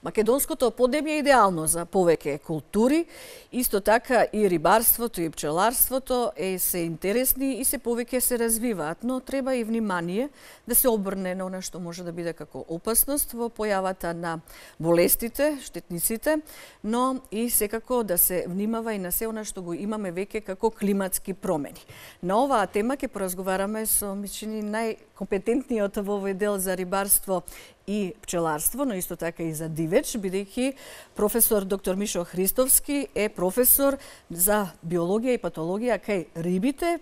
Македонското поднебје е идеално за повеќе култури, исто така и рибарството и пчеларството се интересни и се повеќе се развиваат, но треба и внимание да се обрне на она што може да биде како опасност во појавата на болестите, штетниците, но и секако да се внимава и на се она што го имаме веќе како климатски промени. На оваа тема ќе поразговараме со мислени најкомпетентниот во овој дел за рибарство и пчеларство, но исто така и за дивеч, бидејќи професор доктор Мишо Христовски е професор за биологија и патологија кај рибите,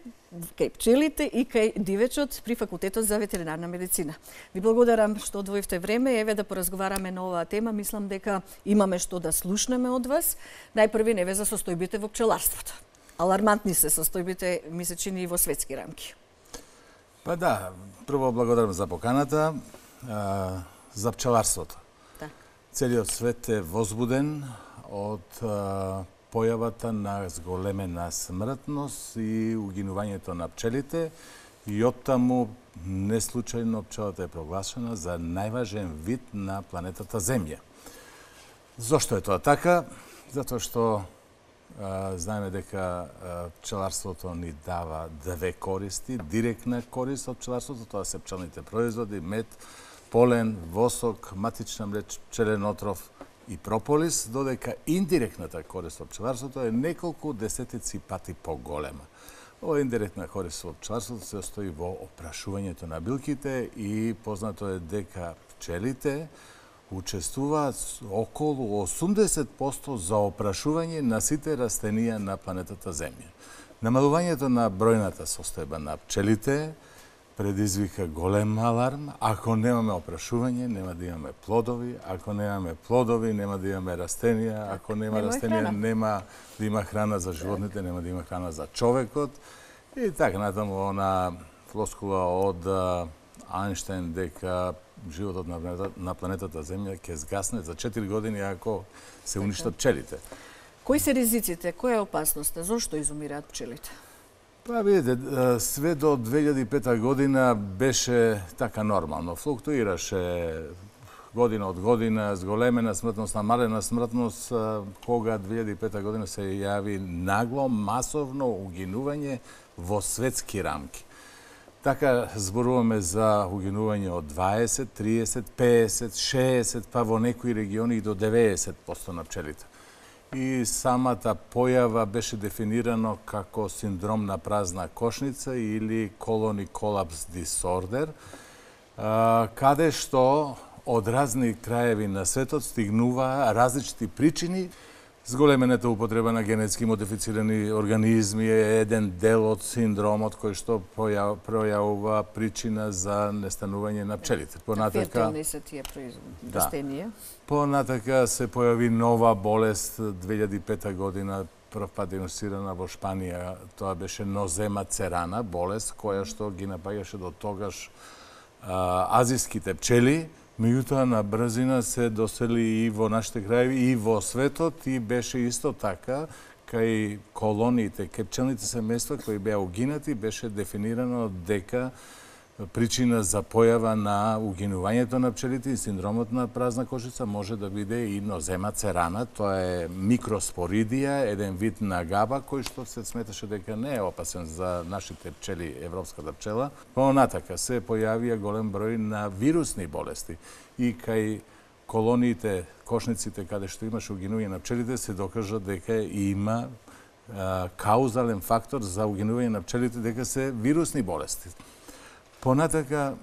кај пчелите и кај дивечот при Факултетот за ветеринарна медицина. Ви благодарам што одвоивте време, еве да поразговараме на оваа тема. Мислам дека имаме што да слушнеме од вас. Најпрви неве за состојбите во пчеларството. Алармантни се состојбите, ми се чини и во светски рамки. Па да, прво благодарам за поканата. За пчеларството. Да. Целиот свет е возбуден од појавата на зголемена смртност и угинувањето на пчелите и оттаму неслучајно пчелата е проглашена за најважен вид на планетата Земја. Зошто е тоа така? Затоа што знаеме дека пчеларството ни дава две користи, директна корист од пчеларството, тоа се пчелните производи, мед, полен, восок, матична млеч, пчелен отров и прополис, додека индиректната корист од пчеларството е неколку десетици пати поголема. Ова индиректна корист од пчеларството се состои во опрашувањето на билките и познато е дека пчелите учествуваат околу 80% за опрашување на сите растенија на планетата Земја. Намалувањето на бројната состојба на пчелите предизвика голем аларм. Ако немаме опрашување, нема да имаме плодови. Ако немаме плодови, нема да имаме растенија. Ако нема растенија, нема да има храна за животните, нема да има храна за човекот. И така натаму она флоскула од Ајнштајн дека животот на планетата Земја ќе згасне за 4 години ако се уништат пчелите. Кои се ризиците? Која е опасноста? Зошто изумираат пчелите? Па видите, све до 2005 година беше така нормално. Флуктуираше година од година, зголемена смртност, намалена смртност, кога 2005 година се јави нагло, масовно угинување во светски рамки. Така зборуваме за угинување од 20, 30, 50, 60, па во некои региони и до 90% на пчелите. И самата појава беше дефинирано како синдром на празна кошница или колони колапс дисордер, каде што од разни краеви на светот стигнува различни причини. Зголемената употреба на генетски модифицирани организми е еден дел од синдромот кој што пројавува причина за нестанување на пчелите. Понатака се тие растенија. Понатака се појави нова болест 2005 година, прв пат диагностирана во Шпанија. Тоа беше нозема церана, болест која што ги напаѓаше до тогаш азиските пчели. Меѓутоа на брзина се досели и во нашите краеви и во светот и беше исто така кај колониите, кај пчелните семејства кои беа угинати, беше дефинирано дека причина за појава на угинувањето на пчелите и синдромот на празна кошница може да биде и нозема церана. Тоа е микроспоридија, еден вид на габа кој што се сметаше дека не е опасен за нашите пчели, европската пчела. Понатака се појавија голем број на вирусни болести и кај колониите, кошниците каде што имаше угинување на пчелите се докажа дека има каузален фактор за угинување на пчелите, дека се вирусни болести. Понатака,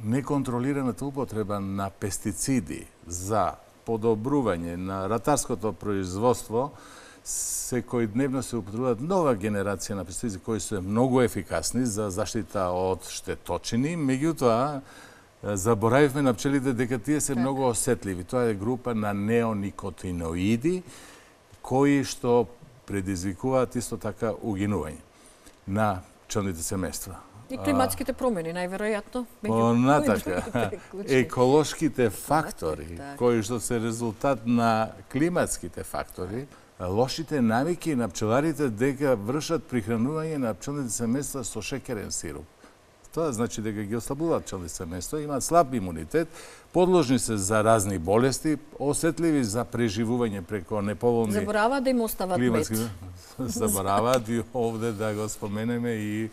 неконтролираната употреба на пестициди за подобрување на ратарското производство, секојдневно се употребуваат нова генерација на пестициди кои се многу ефикасни за заштита од штеточини, меѓутоа заборавивме на пчелите дека тие се многу осетливи. Тоа е група на неоникотиноиди кои што предизвикуваат исто така угинување на пчелните семејства. И климатските промени, најверојатно. Понатака, еколошките фактори, кои што се резултат на климатските фактори, лошите навики на пчеларите дека вршат прихранување на пчелните семејства со шекерен сируп. Тоа значи дека ги ослабуваат пчелни семејства, имаат слаб имунитет, подложни се за разни болести, осетливи за преживување преко неповолни... Забораваат да им остават мед. Забораваат и овде да го споменеме и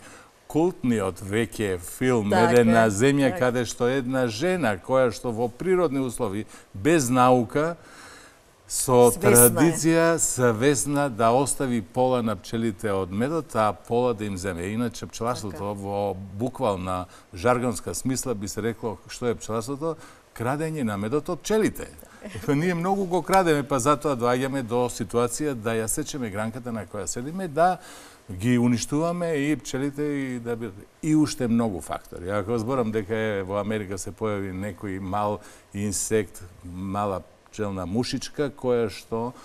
култниот веќе филм Медена земја, каде што една жена која што во природни услови, без наука, со традиција свесна да остави пола на пчелите од медот, а пола да им земе. Иначе пчеларството во буквална жаргонска смисла би се рекло што е пчеларството? Крадење на медот од пчелите. Ние многу го крадеме, па затоа доаѓаме до ситуација да ја сечеме гранката на која седиме, да ги уништуваме и пчелите и да би... И уште многу фактори. Ако зборам дека во Америка се појави некој мал инсект, мала пчелна мушичка, која што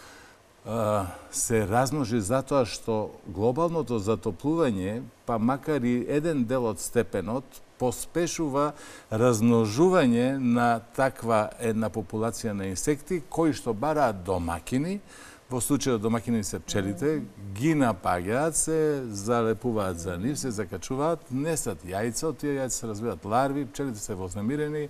се размножи затоа што глобалното затоплување, па макар и еден дел од степенот, поспешува размножување на таква една популација на инсекти, кои што бараат домакини, во случајот домакини се пчелите, ги напаѓаат се, залепуваат за нив, се закачуваат, несат јајца, од тие јајца се развиваат ларви, пчелите се вознемирени,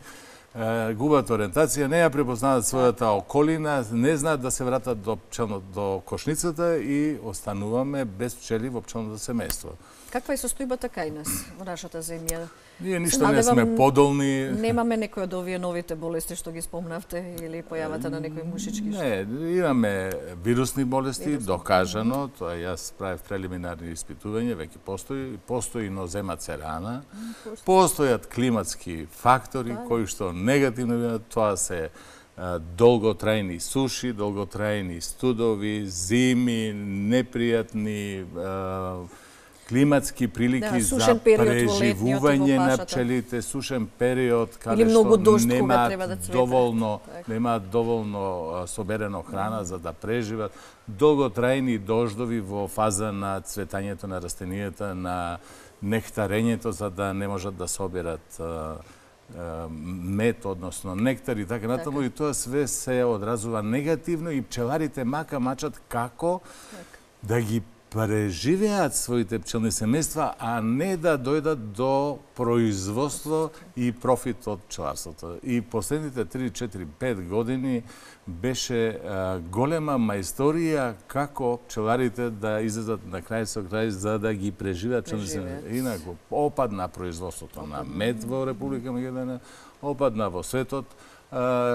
губат ориентација, не ја препознаваат својата околина, не знаат да се вратат до кошницата и остануваме без пчели во пчелното семејство. Каква е состојбата кај нас во нашата земја? Ние ништо не сме подолни. Немаме некој од овие новите болести што ги спомнавте или појавата на некои мушички? Не, имаме вирусни болести, докажано, тоа јас правев прелиминарни испитувања, веќе постои нозема церана, постојат климатски фактори кои што негативно влијаат, тоа се долготрајни суши, долготрајни студови, зими, непријатни климатски прилики за преживување на пчелите, сушен период каде што немаат доволно соберено храна за да преживат, долготрајни дождови во фаза на цветањето на растенијата, на нектарењето за да не можат да соберат мед, односно нектар и така натаму, и тоа све се одразува негативно и пчеларите мачат како да ги преживеат своите пчелни семејства, а не да дојдат до производство и профит од пчеларството. И последните 3, 4, 5 години беше голема мајсторија како пчеларите да излезат на крај со крај за да ги преживеат пчелни семејства. Инаку, опадна производството на мед во Република Македонија, опадна во светот,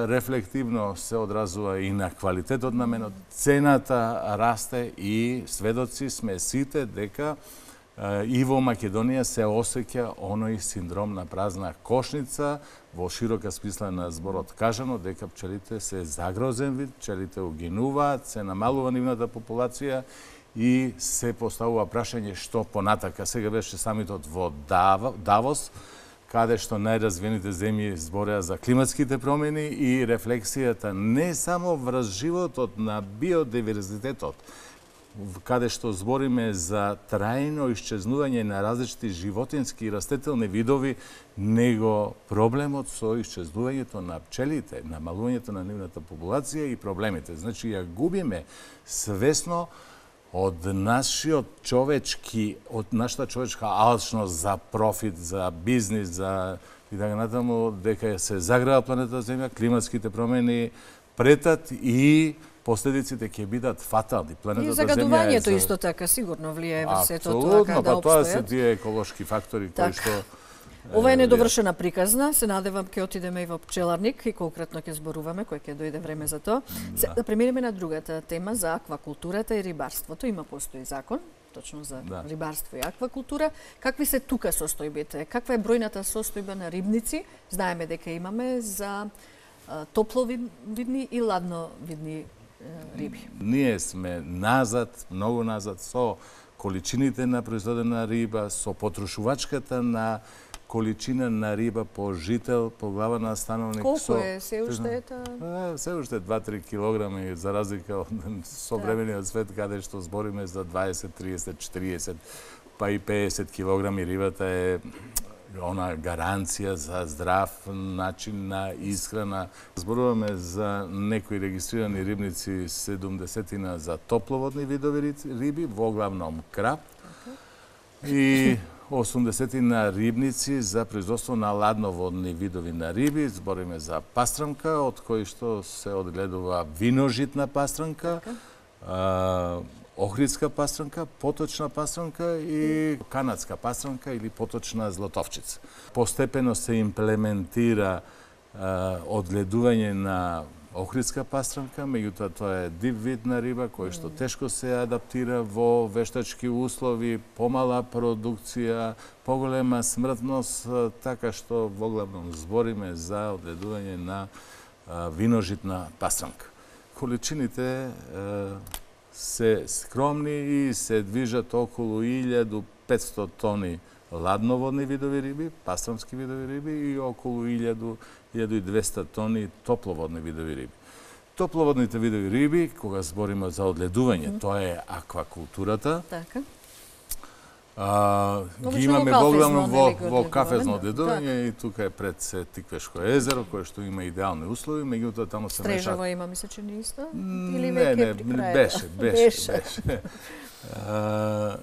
рефлективно се одразува и на квалитетот на менот, цената расте и сведоци сме сите дека и во Македонија се осеќа оној синдром на празна кошница, во широка смисла на зборот кажано, дека пчелите се загрозен вид, пчелите угинуваат, се намалува нивната популација и се поставува прашање што понатака. Сега беше самитот во Давос, каде што најразвиените земји збореа за климатските промени и рефлексијата не само врз животот на биодиверзитетот, каде што збориме за трајно исчезнување на различити животински и растителни видови, него проблемот со исчезнувањето на пчелите, намалувањето на нивната популација и проблемите. Значи, ја губиме свесно од нашата човечка алчност за профит, за бизнис, за и така натаму, дека се загрева планета Земја, климатските промени претат и последиците ќе бидат фатални. И загадувањето исто така сигурно влијае во сето тоа каде да обстојат. Тоа се тие еколошки фактори кои што ова е недовршена приказна, се надевам ќе отидеме и во пчеларник и конкретно ќе зборуваме кој ќе дојде време за тоа. Да преминеме на другата тема за аквакултурата и рибарството. Има постои закон точно за рибарство и аквакултура. Какви се тука состојбите? Каква е бројната состојба на рибници? Знаеме дека имаме за топловидни и ладновидни риби. Ние сме назад, многу назад со количините на произведена риба, со потрошувачката на количина на риба по жител, по глава на становник. Колку е се уште ета? Се уште 2-3 килограми, за разлика од современиот свет, каде што збориме за 20, 30, 40, па и 50 килограми. Рибата е она гаранција за здрав начин на исхрана. Зборуваме за некои регистрирани рибници 70 за топловодни видови риби, во главном краб. И 80 рибници за производство на ладноводни видови на риби. Збориме за пастрамка, од кој што се одгледува виножитна пастрамка, охридска пастрамка, поточна пастрамка и канадска пастрамка или поточна златовчица. Постепено се имплементира одгледување на охридска пастрамка, меѓутоа тоа е див вид на риба кој што тешко се адаптира во вештачки услови, помала продукција, поголема смртност, така што воглавном збориме за одгледување на виножитна пастрамка. Количините се скромни и се движат околу 1500 тони ладноводни видови риби, пастрамски видови риби и околу 1200 тони топловодни видови риби. Топловодните видови риби, кога збориме за одгледување, тоа е аквакултурата. Така. Ги имаме воглавно во кафезно одгледување и тука е пред се Тиквешко езеро, кое што има идеални услови, меѓутоа таму се мешаат. Стрежава има, мисля, че не исто? Или не, беше.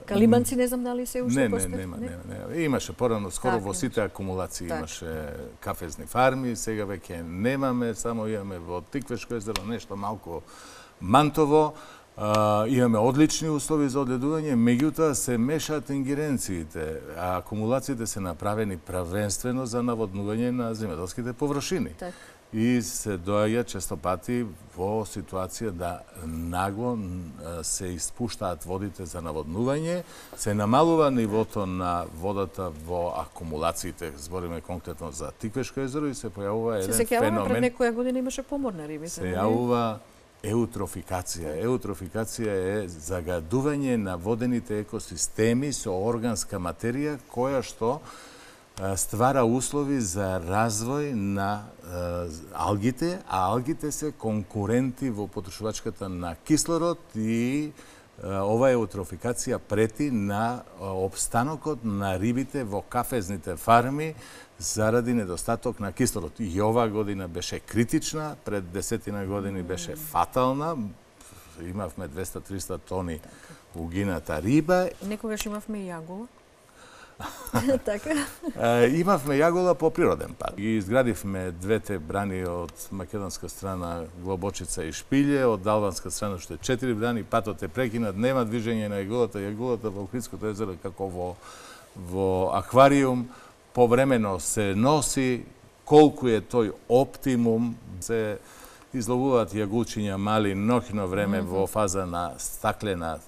Калиманци не знам дали се уште постои? Не. Имаше порано, скоро во сите акумулации имаше кафезни фарми, сега веќе немаме, само имаме во Тиквешко езеро нешто малку мантово. Имаме одлични услови за одгледување, меѓутоа се мешаат ингеренциите, а акумулациите се направени правенствено за наводнување на земјоделските површини. И се доаѓа често пати во ситуација да нагло се испуштаат водите за наводнување, се намалува нивото на водата во акумулациите, збориме конкретно за Тиквешко езеро и се појавува еден феномен. Пред некоја година имаше помор на рибите. Се јавува еутрофикација. Еутрофикација е загадување на водените екосистеми со органска материја која што ствара услови за развој на алгите, а алгите се конкуренти во потрошувачката на кислород и ова еутрофикација прети на опстанокот на рибите во кафезните фарми заради недостаток на кислород. И оваа година беше критична, пред 10 години беше фатална. Имавме 200-300 тони угината риба. Некогаш имавме и јагола. Така. Имавме јагола по природен пат. Ги изградивме двете брани од македонска страна Глобочица и Шпилје, од албанска страна што е 4 брани, патот е прекинат, нема движење на јаголата. Јаголата во Охридското езеро како во аквариум, повремено се носи, колку е тој оптимум, се изловуваат јагулчиња мали ноќно време во фаза на стаклена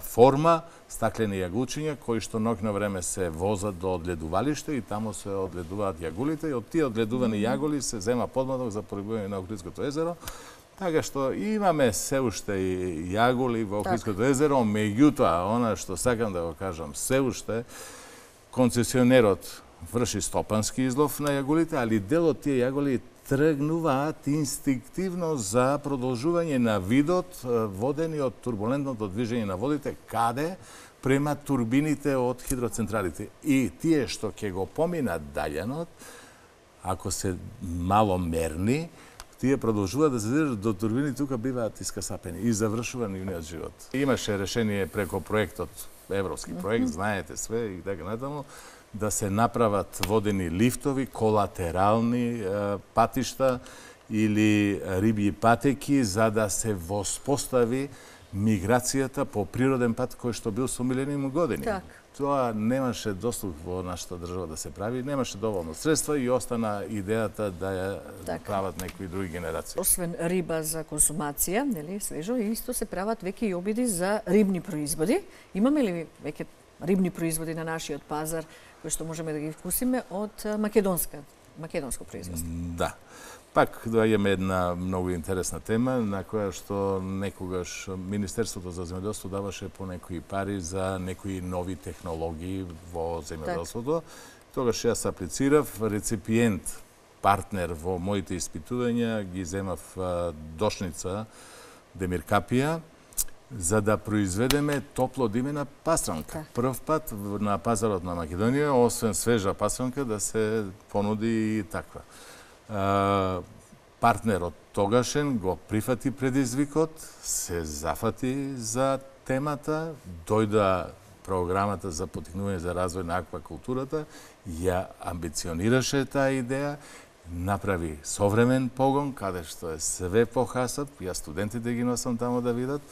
форма, стаклени јагулчиња, кои што ноќно време се возат до одгледувалиште и таму се одгледуваат јагулите и од тие одгледувани јаголи се зема подмладок за порибување на Охридското езеро. Така што имаме се уште и јаголи во Охридското езеро, меѓутоа, она што сакам да го кажам, се уште концесионерот врши стопански излов на јаголите, али дел од тие јаголи тргнуваат инстинктивно за продолжување на видот водени од турбулентното движење на водите, каде према турбините од хидроцентралите. И тие што ќе го поминат далјанот, ако се маломерни, тие продолжуваат да се држат до турбини, тука биваат искасапени и завршува нивниот живот. Имаше решение преко проектот, европски проект, знаете све и така натаму, да се направат водени лифтови, колатерални патишта или рибји патеки за да се воспостави миграцијата по природен пат кој што бил со милениум години. Так. Тоа немаше дослух во нашата држава да се прави, немаше доволно средства и остана идејата да ја прават некои други генерации. Освен риба за консумација, нели, свежо, исто се прават веќе и обиди за рибни производи. Имаме ли веќе рибни производи на нашиот пазар кои што можеме да ги вкусиме од македонско производство? Да. Пак доаѓаме една многу интересна тема на која што некогаш Министерството за земјоделство даваше по некои пари за некои нови технологии во земјоделството. Тогаш јас аплицирав, реципиент, партнер во моите испитувања ги земав Дошница Демир Капија, за да произведеме топлодимена пастрамка. Прв пат на пазарот на Македонија, освен свежа пастрамка, да се понуди и таква. Партнерот тогашен го прифати предизвикот, се зафати за темата, дојда програмата за поттикнување за развој на аквакултурата ја амбиционираше таа идеја, направи современ погон, каде што е све похасат, ја студентите ги носам тамо да видат,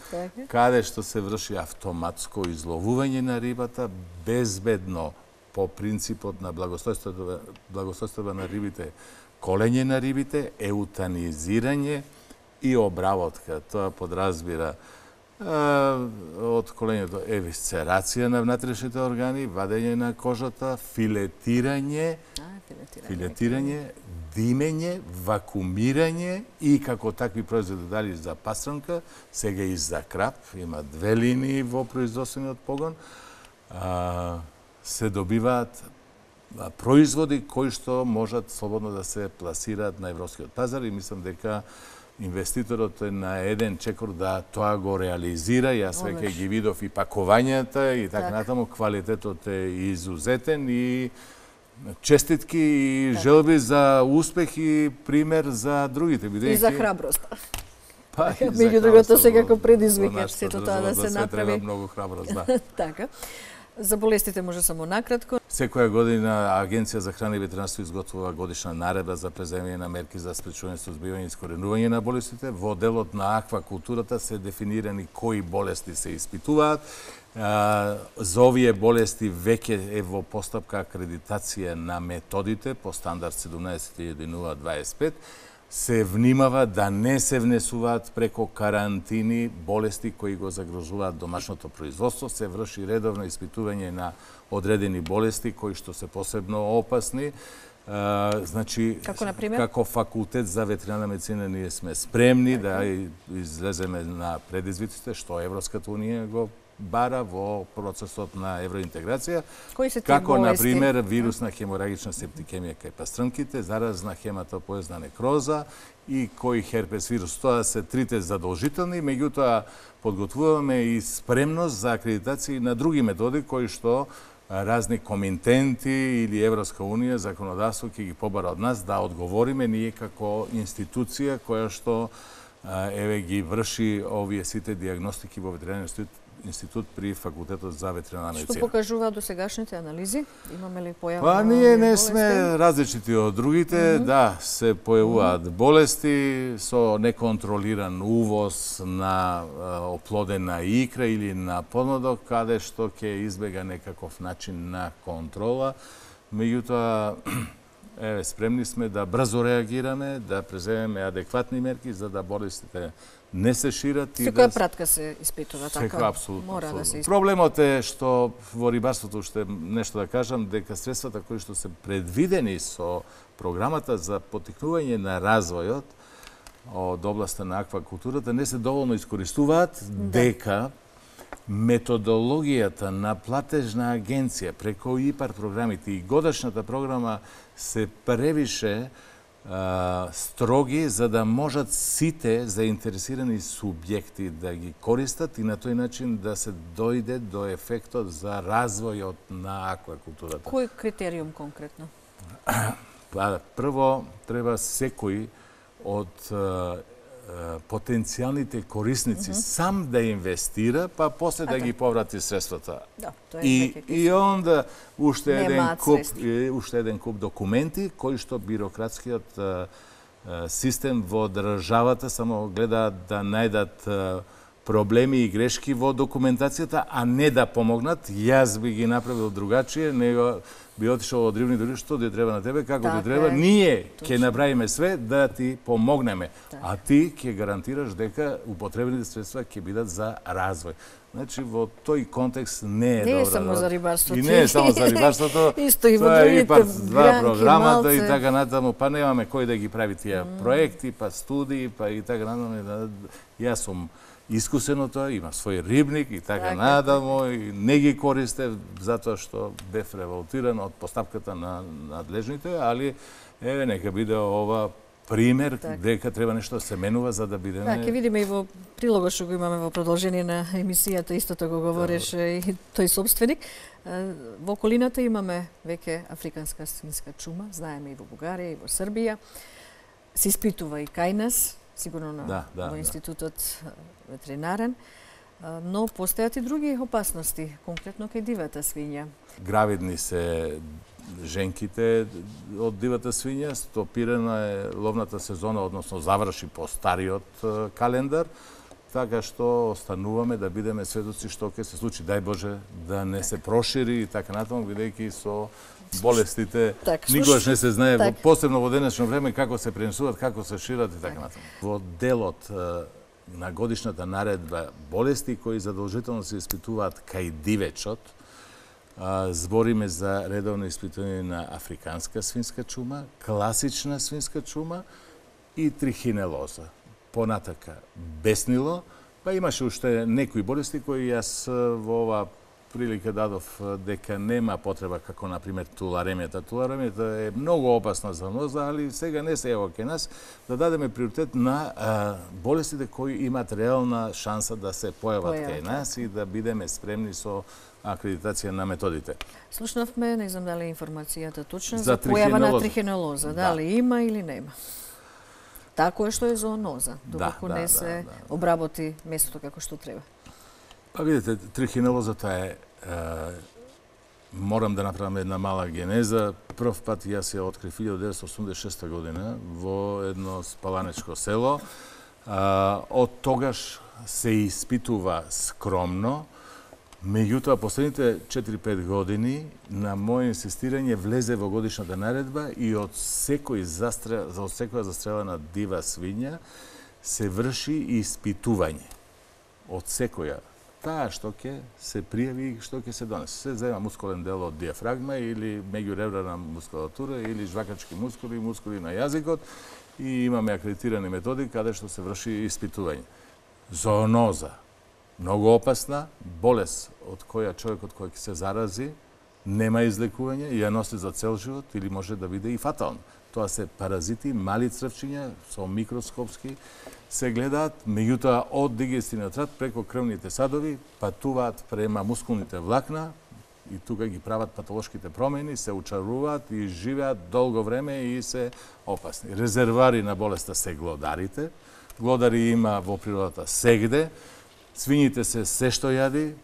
каде што се врши автоматско изловување на рибата, безбедно, по принципот на благостојството на рибите, колење на рибите, еутанизирање и обработка. Тоа подразбира од колењето евисцерација на внатрешните органи, вадење на кожата, филетирање, димење, вакуумирање и како такви производи дали за пастранка, сега и за крап, има 2 линии во производствениот погон, се добиваат производи кои што можат слободно да се пласираат на европскиот пазар и мислам дека инвеститорот е на еден чекор да тоа го реализира. Јас веќе ги видов и пакувањата и така натаму, квалитетот е изузетен и честитки и желби за успех и пример за другите. И за храброст. Меѓу другото секако предизвика сето тоа да се направи. Треба многу храброст, да. Така. За болестите може само накратко. Секоја година Агенција за храна и ветеринарство изготвува годишна наредба за преземање на мерки за спречување, сузбивање и искоренување на болестите. Во делот на аквакултурата се дефинирани кои болести се испитуваат. За овие болести веќе е во постапка акредитација на методите по стандард 17.025. Се внимава да не се внесуваат преко карантини болести кои го загрозуваат домашното производство, се врши редовно испитување на одредени болести кои што се посебно опасни. Значи, како факултет за ветеринарна медицина ние сме спремни да излеземе на предизвиците што Европската унија го бара во процесот на евроинтеграција, како, например, вирусна хеморагична септикемија кај пастрнките, заразна хематопоезна некроза и кој херпес вирус. Тоа се трите задолжителни, меѓутоа подготвуваме и спремност за акредитација на други методи кои што разни комитенти или Европска унија, законодавство ќе ги побара од нас да одговориме ние како институција која што ги врши овие сите диагностики во ветеринарниот институт при факултетот за ветеринарна медицина. Што покажуваат досегашните анализи? Имаме ли појава? Па ние не сме различити од другите, да, се појавуваат болести со неконтролиран увоз на оплодена икра или на подмладок, каде што ќе избега некаков начин на контрола. Меѓутоа, спремни сме да брзо реагираме, да преземеме адекватни мерки за да болестите не се шират. Секоја пратка се испитува, така? Секоја, апсолутно. Мора да се испитува. Проблемот е што во рибарството, уште нешто да кажам, дека средствата кои што се предвидени со програмата за поттикнување на развојот од областа на аквакултурата не се доволно искористуваат, дека методологијата на платежна агенција преку ИПАР програмите и годишната програма се превише строги за да можат сите заинтересирани субјекти да ги користат и на тој начин да се дојде до ефектот за развојот на аквакултурата. Кој критериум конкретно? Прво, треба секој од потенцијалните корисници сам да инвестира, па после да ги поврати средствата. Да, тоа е и онда уште еден куп документи кои што бирократскиот систем во државата само гледаат да најдат проблеми и грешки во документацијата, а не да помогнат. Јас би ги направил другачие, него би отишол од рибни дури, што ти треба на тебе, како ти треба. Ние ќе направиме све да ти помогнеме, а ти ќе гарантираш дека употребените средства ќе бидат за развој. Значи, во тој контекст не е добро. Не е само за рибарството. И не е само за рибарството. Исто и во другите два програмата и така натаму, па немаме кој да ги прави тие проекти, па студии, па и така натаму. Јас сум искусен од тоа, има свој рибник и така натаму, и не ги користе затоа што бев револтиран од постапката на надлежните, али еве нека биде ова пример дека треба нешто да се менува за да бидеме. Ќе видиме и во прилогот што го имаме во продолжение на емисијата, истото го говореше и тој собственик. Во околината имаме веќе африканска свинска чума, знаеме и во Бугарија и во Србија. Се испитува и кај нас, сигурно во институтот ветеринарен. Но постојат и други опасности, конкретно кај дивата свиња. Гравидни се женките од дивата свиња, стопирана е ловната сезона, односно заврши по стариот календар, така што остануваме да бидеме сведоци што ќе се случи. Дај Боже да не се прошири и така натаму, бидејќи со болестите никогаш не се знае, посебно во денешно време, како се пренесуваат, како се шират и така натаму. Во делот на годишната наредба болести кои задолжително се испитуваат кај дивечот, збориме за редовно испитување на африканска свинска чума, класична свинска чума и трихинелоза. Понатака беснило, па имаше уште некои болести кои јас во ова прилика дадов дека нема потреба, како например туларемијата. Туларемијата е многу опасна зооноза, али сега не се ево кај нас да дадеме приоритет на болестите кои имаат реална шанса да се појават кај нас и да бидеме спремни со акредитација на методите. Слушнавме, не знам дали информацијата точна, за појава на трихинелоза. Дали има или нема? Тако е што е зооноза, доколку не се обработи местото како што треба. Па видите, трихинелозата е, морам да направам една мала генеза. Прв пат јас ја открив 1986 година во едно спаланечко село. Од тогаш се испитува скромно. Меѓутоа, последните 4-5 години на моје инсистирање влезе во годишната наредба и од секоја застрелена дива свиња се врши испитување. Од секоја. Таа што ќе се пријави и што ќе се донесе. Се зема мускулен дел од диафрагма или меѓуребрана мускулатура или жвакачки мускули, мускули на јазикот и имаме акредитирани методи каде што се врши испитување. Зооноза. Многу опасна болест од која човекот кој ќе се зарази нема излекување и ја носи за цел живот или може да биде и фатално. Тоа се паразити, мали црвчиња со микроскопски се гледаат, меѓутоа од дигестивниот тракт преко крвните садови патуваат према мускулните влакна и тука ги прават патолошките промени, се учаруваат и живеат долго време и се опасни. Резервари на болеста се глодарите. Глодари има во природата сегде. Свињите се што јади,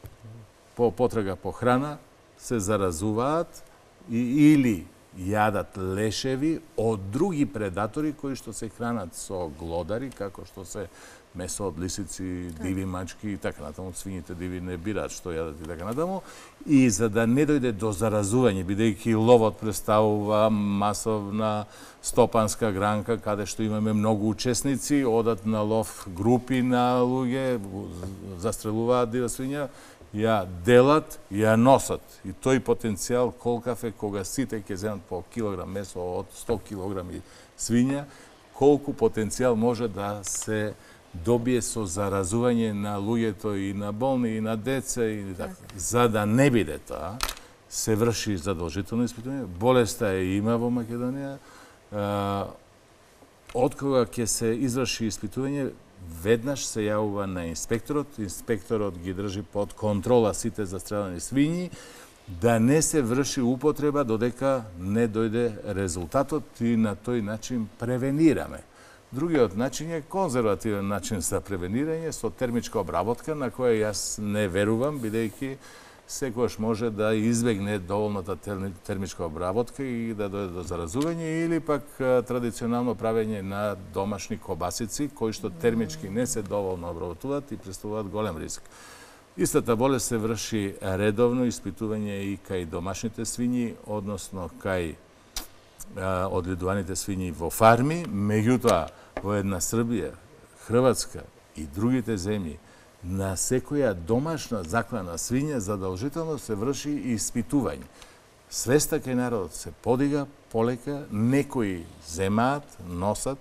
по потрага по храна, се заразуваат или јадат лешеви од други предатори кои што се хранат со глодари, како што се месо од лисици, диви мачки и така натаму. Свињите диви не бираат што јадат и така натаму. И за да не дојде до заразување, бидејќи ловот представува масовна стопанска гранка, каде што имаме многу учесници, одат на лов групи на луѓе, застрелуваат дива свиња, ја делат, ја носат. И тој потенцијал колкав е кога сите ќе земат по килограм месо од 100 килограми свиња, колку потенцијал може да се добие со заразување на луѓето и на болни и на деца и така. За да не биде тоа, се врши задолжително испитување. Болеста има во Македонија. Откога ќе се изврши испитување, веднаш се јавува на инспекторот. Инспекторот ги држи под контрола сите застрелени свињи, да не се врши употреба додека не дојде резултатот и на тој начин превенираме. Другиот начин е конзервативен начин за превенирање со термичка обработка, на која јас не верувам, бидејќи секогаш може да избегне доволната термичка обработка и да дојде до заразување, или пак традиционално правење на домашни кобасици, кои што термички не се доволно обработуваат и представуваат голем риск. Истата болест се врши редовно испитување и кај домашните свињи, односно кај одгледуваните свињи во фарми, меѓутоа во една Србија, Хрватска и другите земји, на секоја домашна заклана свиња задолжително се врши испитување. Свеста кај народот се подига полека, некои земаат, носат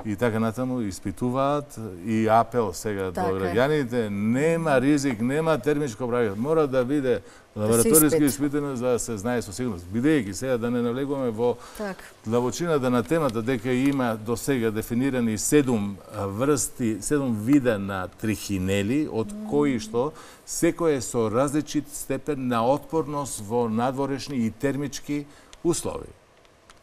и така натаму испитуваат, и апел сега до граѓаните, нема ризик, нема термичко обработка, мора да биде лабораториски испитано за да се знае со сигурност. Бидејќи сега да не навлегуваме во длабочината на темата дека има до сега дефинирани 7 вида на трихинели, од кои што секој е со различит степен на отпорност во надворешни и термички услови.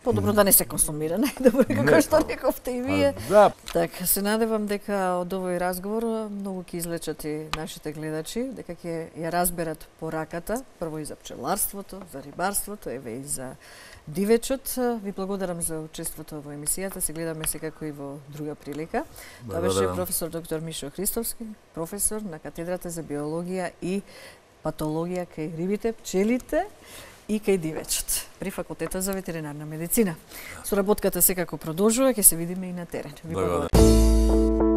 Подобро да не се консумира, најдобро како што рековте и вие. Да. Така, се надевам дека од овој разговор многу ќе излечат и нашите гледачи, дека ќе ја разберат пораката, прво и за пчеларството, за рибарството, еве и за дивечот. Ви благодарам за учеството во емисијата, се гледаме секако и во друга прилика. Тоа беше професор доктор Мишо Христовски, професор на катедрата за биологија и патологија кај рибите, пчелите и кај дивечот при факултетот за ветеринарна медицина. Соработката секако продолжува, ќе се видиме и на терен. Ви благодарам.